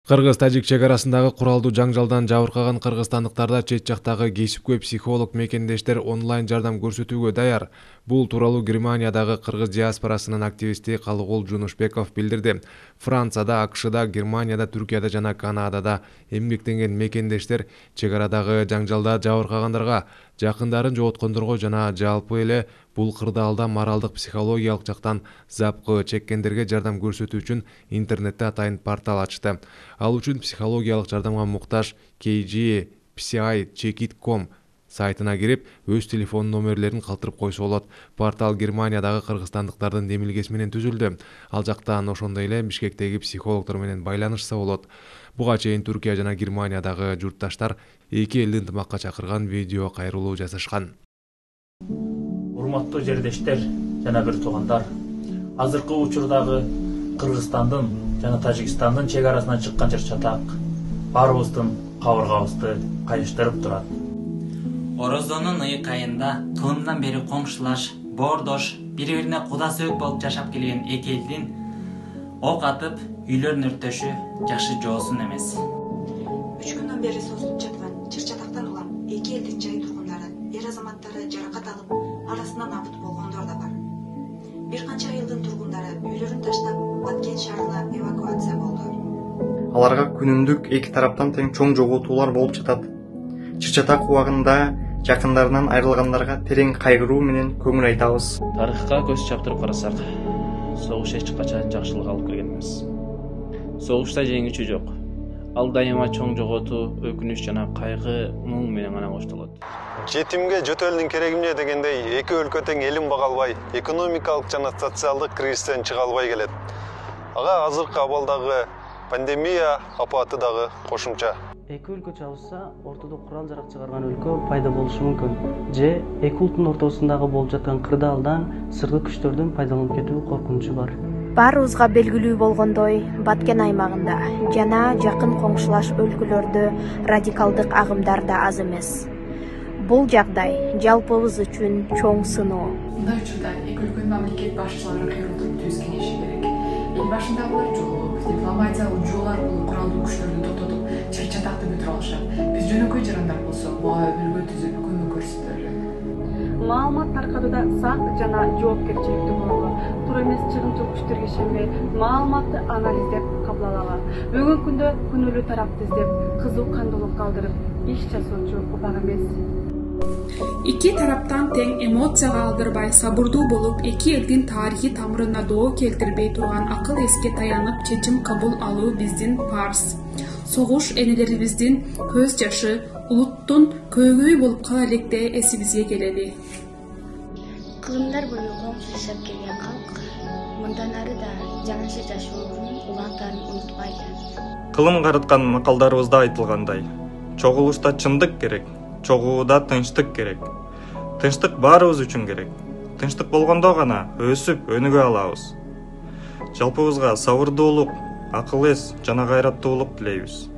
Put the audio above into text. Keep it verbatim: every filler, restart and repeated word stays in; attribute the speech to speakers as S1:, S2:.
S1: Кыргыз-тажик чек арасындагы куралдуу жаңжалдан жабыркаган кыргызстандыктарда чет жактагы кесипкөй психолог мекендештер онлайн жардам көрсөтүүгө даяр. Бул тууралуу Германиядагы кыргыз диаспорасынын активисти Калыгул Жунушбеков билдирди. Францияда, АКШда, Германияда, Түркияда жана Канадада эмгектенген мекендештер чек арадагы жаңжалда жабыркагандарга, жакындарын жоготкондорго жана жалпы эле бул кырдаалда моралдык психологиялык жактан запкы чеккендерге жардам көрсөтүү үчүн интернетте атайын портал ачты. Ал үчүн психологиялык жардамга муктаж кей джи пси чек ит точка ком сайтына кирип, өз телефон номерлерин калтырып койсо болот. Портал Германиядагы кыргызстандыктардын демилгеси менен түзүлдү. Ал жактан ошондой эле Бишкектеги психологдор менен байланышса болот. Буга чейин Түркия жана Германиядагы журтташтар эки элди ынтымакка чакырган видео кайрылуу жасашкан.
S2: Урматтуу жердештер жана бир туугандар, азыркы учурдагы Кыргызстандын жана Тажикстандын чек арасынан чыккан чыр-чатак баарыбыздын кабыргабызды кайыштырып турат.
S3: Орозонун ыйык айында тууындан бери коңшулаш, боордош, бири-бирине куда сөөк болуп жашап келген эки элдин ок атып, үйлөрүн өрттөшү жакшы жоосун эмес.
S4: Үч күндөн бери созулуп жаткан чыр-чатактан улам эки элдин жай тургундары, эр азаматтары жаракат алып, арасынан абыт болгондор да бар. Бир канча айылдын тургундары үйлөрүн таштап, Баткен шаарына эвакуация болду.
S5: Аларга күнүмдүк эки тараптан тең чоң жоготуулар болуп жатат. Чыр-чатак убагында жакындарынан айрылгандарга терең кайгыруу менен көңүл айтабыз.
S6: Тарыхка көз чаптырып карасак, согуш эч качан жакшылык алып келген эмес. Согушта жеңүүчү жок. Ал дайыма чоң жоготуу, өкүнүч жана кайгы, муң менен гана коштолот.
S7: Жетимге жөтөлдүн кереги эмне дегендей, эки өлкө тең элин бага албай, экономикалык жана социалдык кризистен чыга албай келет. Ага азыркы абалдагы пандемия апаты дагы кошумча.
S8: Эки өлкө чабышса, ортодо курал жарак чыгарган өлкө пайда болушу мүмкүн. Же эки улуттун ортосундагы болуп жаткан кырдаалдан сырткы күчтөрдүн пайдаланып кетүү коркунучу бар.
S9: Баарыбызга белгилүү болгондой, Баткен аймагында жана жакын коңшулаш өлкөлөрдө радикалдык агымдар да аз эмес. Бул жагдай жалпыбыз үчүн чоң сыноо.
S10: Мындай учурда эки өлкөнүн мамлекет башчылары кыйрылтып түз кеңеши керек. Эл башындагылар жолугуп, дипломатиялык жол аркылуу куралдуу күчтөрдү токтотуп, чыр-чатакты бүтүрө алышат. Биз жөнөкөй жарандар болсо, буга өбүлгө түзүп көмөк көрсөтөлү.
S11: Маалымат таркатууда сак жана жоопкерчиликтүү бололу. Туура эмес чыгымчыл күчтөргө ишенбей, маалыматты анализдеп кабыл алалы. Бүгүнкү күндө күнөөлүү тарапты издеп, кызуу кандуулук калтырып иш жасоочу убак эмес.
S12: Эки тараптан тең эмоцияга алдырбай, сабырдуу болуп, эки элдин тарыхый тамырына доо келтирбей турган акыл эске таянып чечим кабыл алуу биздин парз. Согуш энелерибиздин көз жашы, улуттун көөгөй болуп кала электе эсибизге келели.
S13: Кылымдар бою коңшу жашап келген калк мындан ары да жаңыча жашоонун улантарын унутпайды.
S5: Кылым карыткан макалдарыбызда айтылгандай, чогулушта чындык керек, чогууда тынчтык керек. Тынчтык баарыбыз үчүн керек. Тынчтык болгондо гана өсүп, өнүгө алабыз. Жалпыбызга сабырдуулук, акыл эс жана кайраттуулук тилейбиз.